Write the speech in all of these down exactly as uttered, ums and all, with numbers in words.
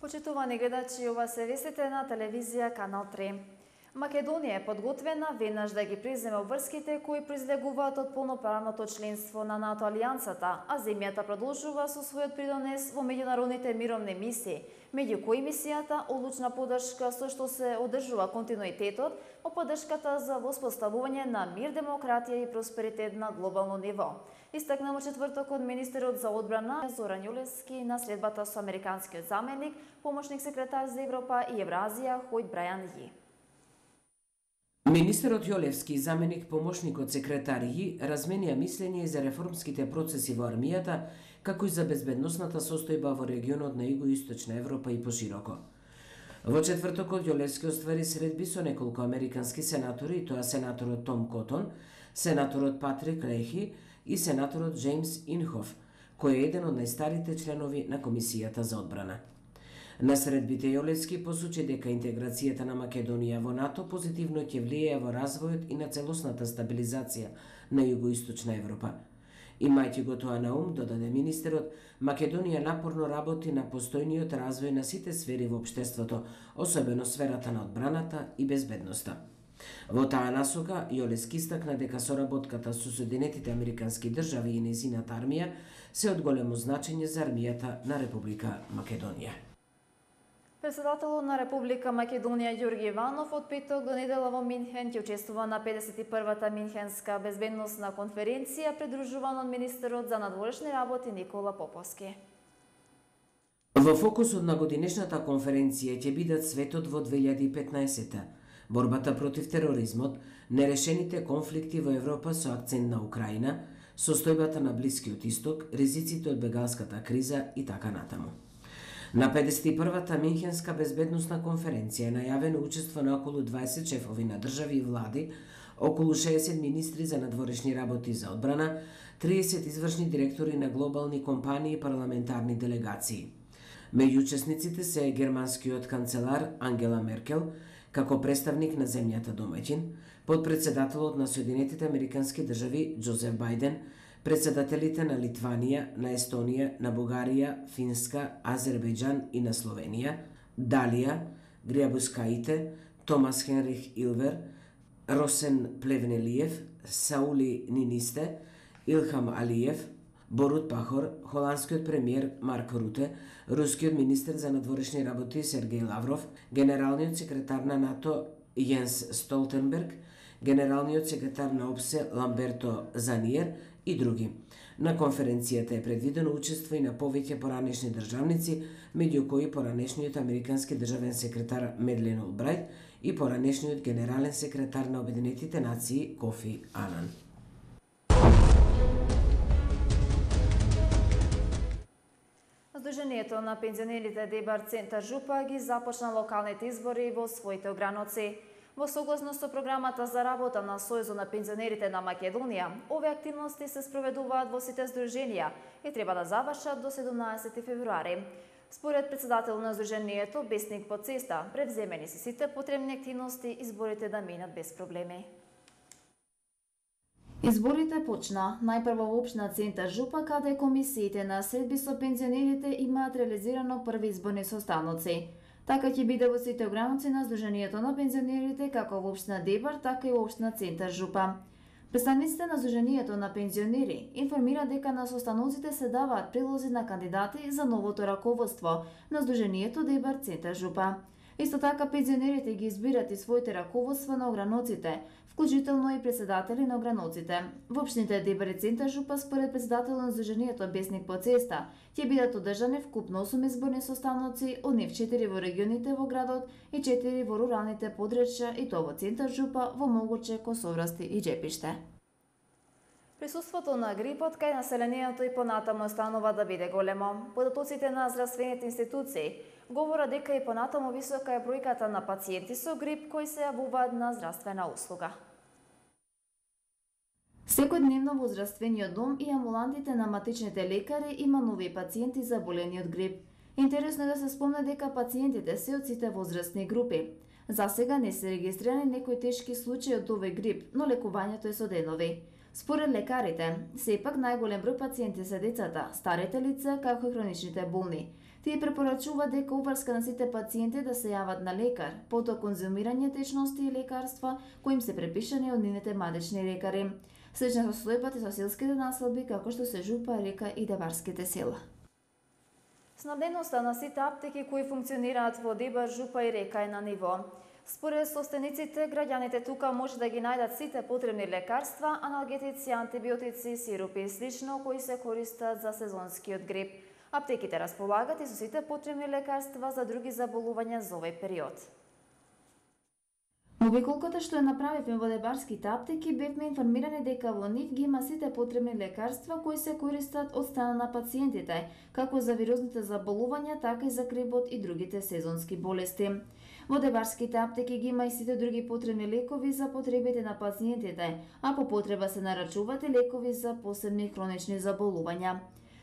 Почитувани гледачи, ова се вестите на телевизија Канал три. Македонија е подготвена веднаш да ги преземе обврските кои произлегуваат од полноправното членство на НАТО алијансата, а земјата продолжува со својот придонес во меѓународните мировни мисии, меѓу кои мисијата одлучна поддршка со што се одржува континуитетот во поддршката за воспоставување на мир, демократија и просперитет на глобално ниво. Истакна во четвртокот министерот за одбрана Зоран Јолевски на следбата со американскиот заменик, помошник секретар за Европа и Евразија Хојт Брајан Ји. Министерот Јолевски и заменик помошникот секретар Ји разменија мислење за реформските процеси во армијата, како и за безбедносната состојба во регионот на Југоисточна Европа и пошироко. Во четвртокот Јолевски оствари средби со неколку американски сенатори, и тоа сенаторот Том Котон, сенаторот Патрик Лехи и сенаторот Джеймс Инхоф, кој е еден од најстарите членови на Комисијата за одбрана. На средбите Јолевски посочи дека интеграцијата на Македонија во НАТО позитивно ќе влијае во развојот и на целосната стабилизација на Југоисточна Европа. Имајќи го тоа на ум, додаде министерот, Македонија напорно работи на постојниот развој на сите сфери во општеството, особено сферата на одбраната и безбедноста. Во таа насока, Јолевски истакна дека соработката со Соединетите Американски држави и нејзината армија се од големо значење за армијата на Република Македонија. Председателот на Република Македонија Ѓорги Иванов од петок до недела во Минхен ќе учествува на педесет и првата Минхенска безбедносна конференција, придружуван од министерот за надворешни работи Никола Поповски. Во фокусот на годинешната конференција ќе бидат светот во две илјади и петнаесетта, борбата против тероризмот, нерешените конфликти во Европа со акцент на Украина, состојбата на Блискиот Исток, ризиците од бегалската криза и така натаму. На педесет и првата Минхенска безбедносна конференција е најавено учество на околу дваесет шефови на држави и влади, околу шеесет министри за надворешни работи за одбрана, триесет извршни директори на глобални компании и парламентарни делегации. Меѓу учесниците се германскиот канцелар Ангела Меркел, како представник на земјата домаќин, подпредседателот на Соединетите Американски држави Џозеф Бајден, председателите на Литванија, на Естонија, на Бугарија, Финска, Азербејџан и на Словенија, Далија, Гриабускаите, Томас Хенрих Илвер, Росен Плевнелиев, Саули Нинисте, Илхам Алиев, Борут Пахор, холандскиот премиер Марк Руте, рускиот министер за надворешни работи Сергеј Лавров, генералниот секретар на НАТО Јенс Столтенберг, генералниот секретар на ОПСЕ Ламберто Заниер и други. На конференцијата е предвидено учество и на повеќе поранешни државници, меѓу кои поранешниот американски државен секретар Медлен Олбрајт и поранешниот генерален секретар на Обединетите нации Кофи Анан. Сдруженијето на пензионерите Дебар Центар Жупа ги започна локалните избори во своите ограноци. Во согласност со програмата за работа на Сојузот на пензионерите на Македонија, овие активности се спроведуваат во сите здруженија и треба да завршат до седумнаесети февруари. Според председател на здруженијето Бесник Поцеста, превземени се сите потребни активности изборите да минат без проблеми. Изборите почна најпрво во општина Центар Жупа, каде комисиите на средби со пензионерите имаат реализирано први изборни состаноци. Така ќе биде во сите ограноци на Сдруженијето на пензионерите, како во општина Дебар, така и во општина Центар Жупа. Представниците на Сдруженијето на пензионери информира дека на состаноците се даваат прилози на кандидати за новото раководство на Сдруженијето Дебар Центар Жупа. Исто така пензионерите ги избират и своите раководства на ограноците, вклучително и председатели на ограноците. Во општините Дебар и Центар Жупа, според председателот на Сдруженијето Бесник Поцеста, ќе бидат одржани вкупно осум изборни состаноци, од нив четири во регионите во градот и четири во руралните подрачја, и тоа во Центар Жупа, во Могоче, Косоврасти и Џепиште. Присуството на грипот кај населението и понатаму останува да биде големо. Податоците на здравствените институции говорат дека и понатаму висока е бројката на пациенти со грип кои се јавуваат на здравствена услуга. Секојдневно во здравствениот дом и амбулантите на матичните лекари има нови пациенти заболени од грип. Интересно е да се спомне дека пациентите се од сите возрастни групи. За сега не се регистрирани некои тешки случаи од овој грип, но лекувањето е со денови. Според лекарите, сепак најголем број пациенти се децата, старите лица, како и хроничните болни. Тие препорачуваат дека обврска на сите пациенти да се јават на лекар, потоа конзумирање течности и лекарства кои им се препишани од нивните мадични лекари. Слична состојбата со селските населби како што се Жупа, Река и Дебарските села. Снабденоста на сите аптеки кои функционираат во Дебар, Жупа и Река е на ниво. Според собствениците, граѓаните тука може да ги најдат сите потребни лекарства, аналгетици, антибиотици, сиропи и слично кои се користат за сезонскиот грип. Аптеките располагат и со сите потребни лекарства за други заболувања за овој период. Во обиколката што ја направивме во дебарските аптеки, бевме информирани дека во нив ги има сите потребни лекарства кои се користат од страна на пациентите, како за вирусните заболувања, така и за грипот и другите сезонски болести. Во дебарските аптеки ги има и сите други потребни лекови за потребите на пациентите, а по потреба се нарачуваат и лекови за посебни хронични заболувања.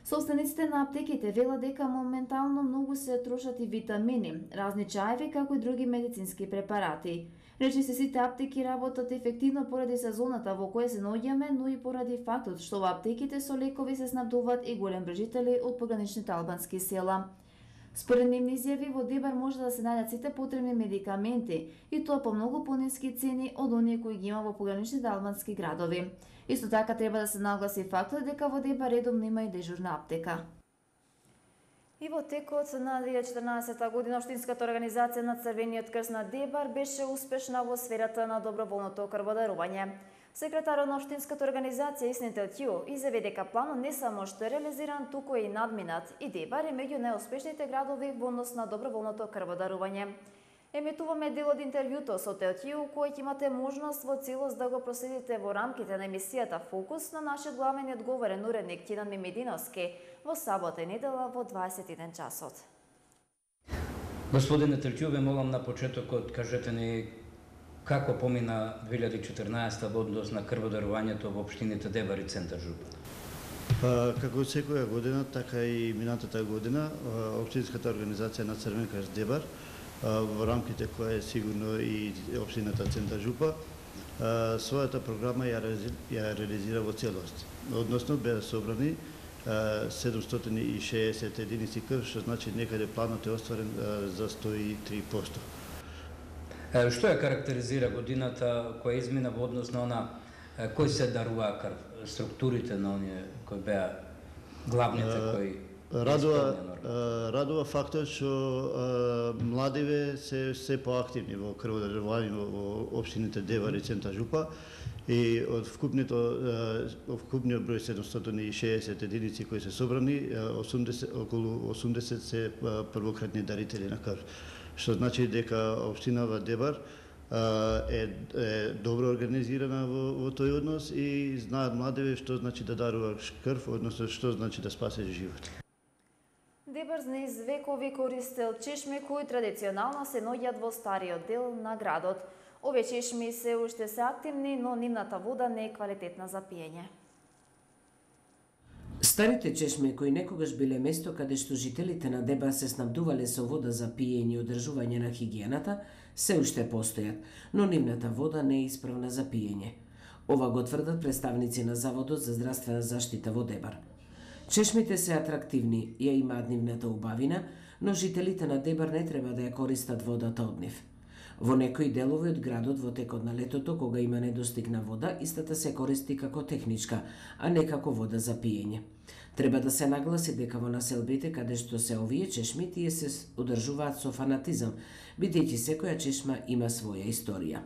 Собствениците на аптеките велат дека моментално многу се трошат и витамини, разни чаеви, како и други медицински препарати. Речи се сите аптеки работат ефективно поради сезоната во која се наоѓаме, но и поради фактот што во аптеките со лекови се снабдуваат и голем број жители од пограничните албански села. Според нивни изјави, во Дебар може да се најдат сите потребни медикаменти, и тоа по многу пониски цени од оние кои ги има во пограничните албански градови. Исто така треба да се нагласи фактот дека во Дебар редовно има и дежурна аптека. И во текот на две илјади и четрнаесетта година Општинската организација на Црвениот крст на Дебар беше успешна во сферата на доброволното крводарување. Секретарот на Општинската организација Исни Телтју изјави дека планот не само што е реализиран, туку и надминат, и Дебар е меѓу најуспешните градови во однос на доброволното крводарување. Емитуваме дел од интервјуто со Телтју, кој ќе имате можност во целост да го проследите во рамките на емисијата Фокус на нашиот главен и одговорен уредник Тинан Мимединовски во сабота и недела во дваесет и еден часот. Господине Телтју, ве молам на почетокот кажете ни како помина две илјади и четрнаесетта во однос на крводарувањето во општините Дебар и Центар Жупа. Како секоја година, така и минатата година, Општинската организација на Црвен крст Дебар, во рамките која е сигурно и општината Центар Жупа, својата програма ја реализира во целост. Односно беа собрани седумстотини и шеесет единици крв, што значи некаде планот е остварен за сто и три проценти. Што ја карактеризира годината која измина во однос на она кој се дарува крв, структурите на оние кои беа главните кои Радува, радува фактот што младиве се се поактивни во крводарување во општините Дебар и Центар Жупа, и од вкупното вкупниот број седумстотини и шеесет единици кои се собрани, осумдесет, околу осумдесет се првократни дарители на крв. Што значи дека општинава Дебар е, е добро организирана во, во тој однос и знаат младиве што значи да даруваш крв, односно што значи да спасеш живот. Дебар низ векови користел чешми кои традиционално се наоѓаат во стариот дел на градот. Овие чешми се уште се активни, но нивната вода не е квалитетна за пиење. Старите чешми кои некогаш биле место каде што жителите на Дебар се снабдувале со вода за пиење и одржување на хигиената, се уште постојат, но нивната вода не е исправна за пиење. Ова го тврдат представници на Заводот за здравствена заштита во Дебар. Чешмите се атрактивни, ја имаат нивната убавина, но жителите на Дебар не треба да ја користат водата од нив. Во некои делови од градот во текот на летото, кога има недостиг на вода, истата се користи како техничка, а не како вода за пиење. Треба да се нагласи дека во населбите каде што се овие чешми, тие се одржуваат со фанатизам, бидејќи секоја чешма има своја историја.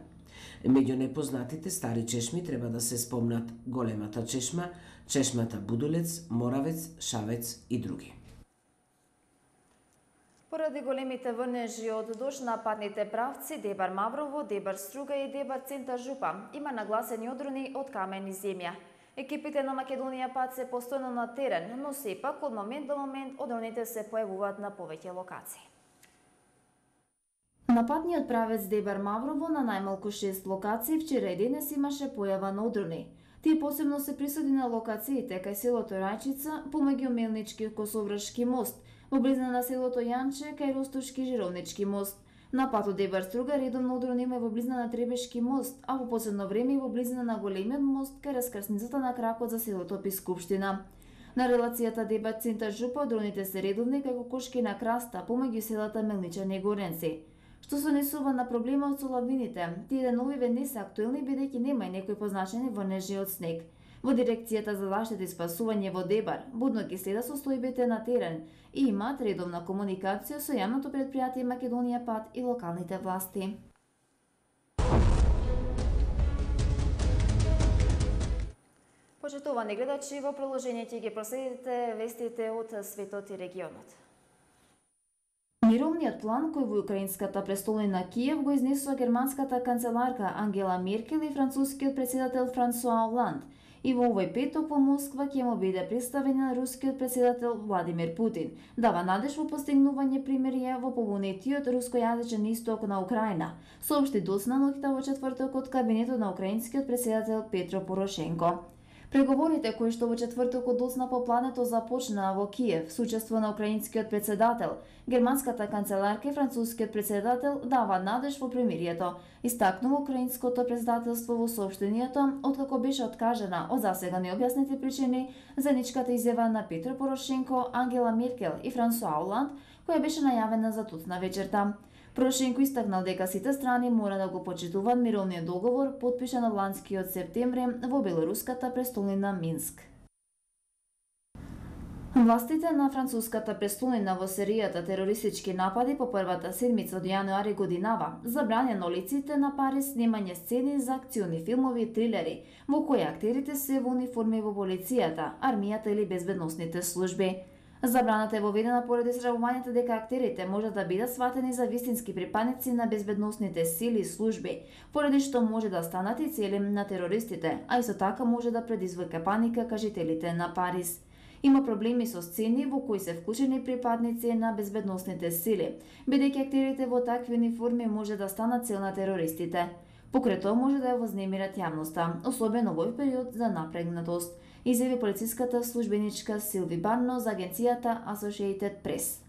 Меѓу непознатите стари чешми треба да се спомнат Големата чешма, чешмата Будулец, Моравец, Шавец и други. Поради големите врнежи од дожд на патните правци Дебар Маврово, Дебар Струга и Дебар Центар Жупа има нагласени одрони од камен и земја. Екипите на Македонија пат се постојано на терен, но сепак од момент до момент одроните се појавуваат на повеќе локации. На патниот правец Дебар Маврово на најмалку шест локации вчера и денес имаше појава на одрони. Тие посебно се присутни на локациите кај селото Рајчица, помеѓу Мелнички Косовршки мост, во близина на селото Јанче кај Ростушки Жировнички мост, На патот Дебар-Струга редовно удрон има во близина на Требешки мост, а во последно време и во близина на големиот мост кај раскрсницата на кракот за селото Пискупштина. На релацијата Дебар-Центар-Жупа дроните се редовни како кошки на краста помеѓу селата Мелничани и Горенци. Што се однесува на проблемот со лавините, тие деновиве не се актуелни бидејќи нема и некои позначени врнежи од снег. Во дирекцијата за заштита и спасување во Дебар будно ги следа состојбите на терен и имаат редовна комуникација со јавното претпријатие Македонија Пат и локалните власти. Почитувани гледачи, во приложение ќе ги проследите вестите од светот и регионот. Мировниот план кој во украинската престолнина Киев го изнесува германската канцеларка Ангела Меркел и францускиот претседател Франсуа Оланд, и во овој петок во Москва ќе му биде представен на рускиот претседател Владимир Путин, дава надеж во постигнување примирие во побунетиот рускојазичен исток на Украина, соопшти доцна ноќта во четврток од кабинетот на украинскиот претседател Петро Порошенко. Преговорите кои што во четвртокот доцна попладнето започнаа во Киев со учество на украинскиот претседател, германската канцеларка и францускиот претседател дава надеж во примирието, истакнува украинското претседателство во соопштението, откако беше откажена од засега необјаснети причини заедничката изјава на Петро Порошенко, Ангела Меркел и Франсуа Оланд, која беше најавена за тутна вечерта. Порошенко истакнал дека сите страни мора да го почитуваат мировниот договор потпишан ланскиот септември во белоруската престолнина Минск. Властите на француската престолнина во серијата терористички напади по првата седмица од јануари годинава забраня на улиците на Париз снимање сцени за акциони филмови и трилери во кои актерите се во униформи во полицијата, армијата или безбедносните служби. Забраната е воведена поради срамувањето дека актерите може да бидат сватени за вистински припадници на безбедносните сили и служби, поради што може да станат и цели на терористите, а исто така може да предизвика паника кај жителите на Париз. Има проблеми со сцени во кои се вклучени припадници на безбедносните сили, бидејќи актерите во такви униформи може да станат цел на терористите. Покрај тоа може да ја вознемират јавноста, особено во овој период за напрегнатост, изјави полициската службеничка Силви Барно за агенцијата Associated Press.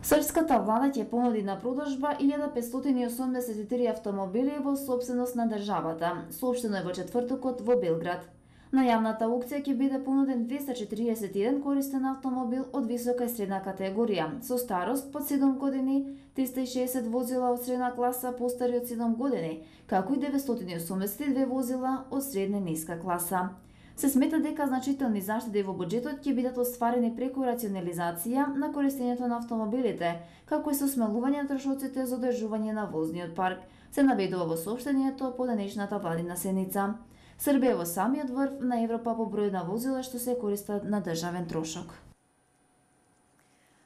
Српската влада ќе понуди на продажба илјада петстотини и осумдесет и три автомобили во сопственост на државата, соопштено е во четвртокот во Белград. На јавната аукција ќе биде понуден двеста четириесет и еден користен автомобил од висока и средна категорија, со старост под седум години, триста и шеесет возила од средна класа постари од седум години, како и деветстотини и осумдесет и две возила од средна и ниска класа. Се смета дека значителни заштеди во буџетот ќе бидат остварени преку рационализација на користењето на автомобилите, како и со смалување на трошоците за одржување на возниот парк, се наведува во соопштението по денешната владина седница. Србија во самиот врв на Европа по број на возила што се користат на државен трошок.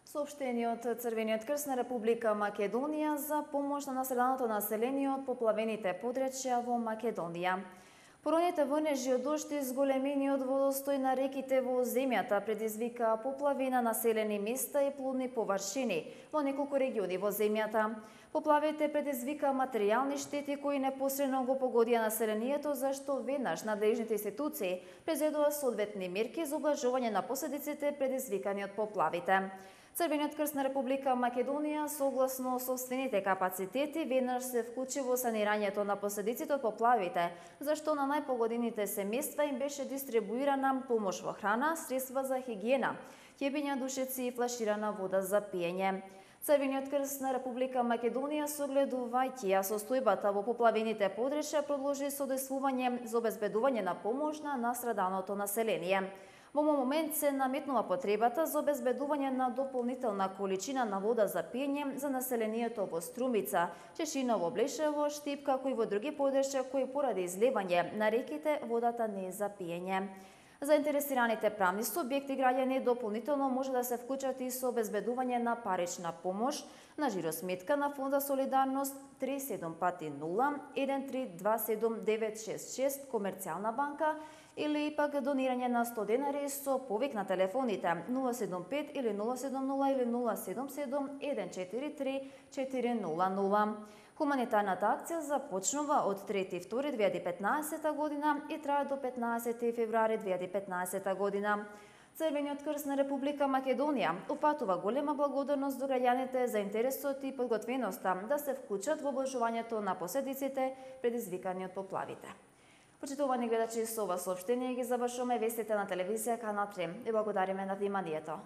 Соопштение од Црвениот крст на Република Македонија за помош на настраданото население од поплавените подречја во Македонија. Пороните врнежи од дожд и зголемениот водостој на реките во земјата предизвика поплави на населени места и плодни површини во неколку региони во земјата. Поплавите предизвика материјални штети кои непосредно го погодија населението, зашто веднаш надлежните институции презедува соодветни мерки за облажување на последиците предизвикани од поплавите. Црвениот крст на Република Македонија, согласно собствените капацитети, веднаш се вклучи во санирањето на последиците од поплавите, зашто на најпогодените семејства им беше дистрибуирана помош во храна, средства за хигиена, ќебиња, душеци и флаширана вода за пиење. Црвениот крст на Република Македонија, согледувајќи ја состојбата во поплавените подречја, продолжи содействување за обезбедување на помош на настраданото население. Во момент се наметнува потребата за обезбедување на дополнителна количина на вода за пиење за населението во Струмица, Чешиново, Блешево, Штип, како и во други подречја кои поради излевање на реките водата не е за пиење. Заинтересираните правни субјекти граѓани дополнително може да се вклучат и со обезбедување на парична помош на жиросметка на Фонд за солидарност три седум пати нула еден три два седум девет шест шест Комерцијална банка или пак донирање на сто денари со повик на телефоните нула седум пет или нула седум нула или нула седум седум еден четири три четири нула нула. Хуманитарната акција започнува од трети втори две илјади и петнаесета година и трае до петнаесети февруари две илјади и петнаесета година. Црвениот крст на Република Македонија упатува голема благодарност до граѓаните за интересот и подготвеноста да се вклучат во облажувањето на последиците предизвикани од поплавите. Почитувани гледачи, со ова соопштение ги завршуваме вестите на телевизија Канал три. Ви благодариме на вниманието.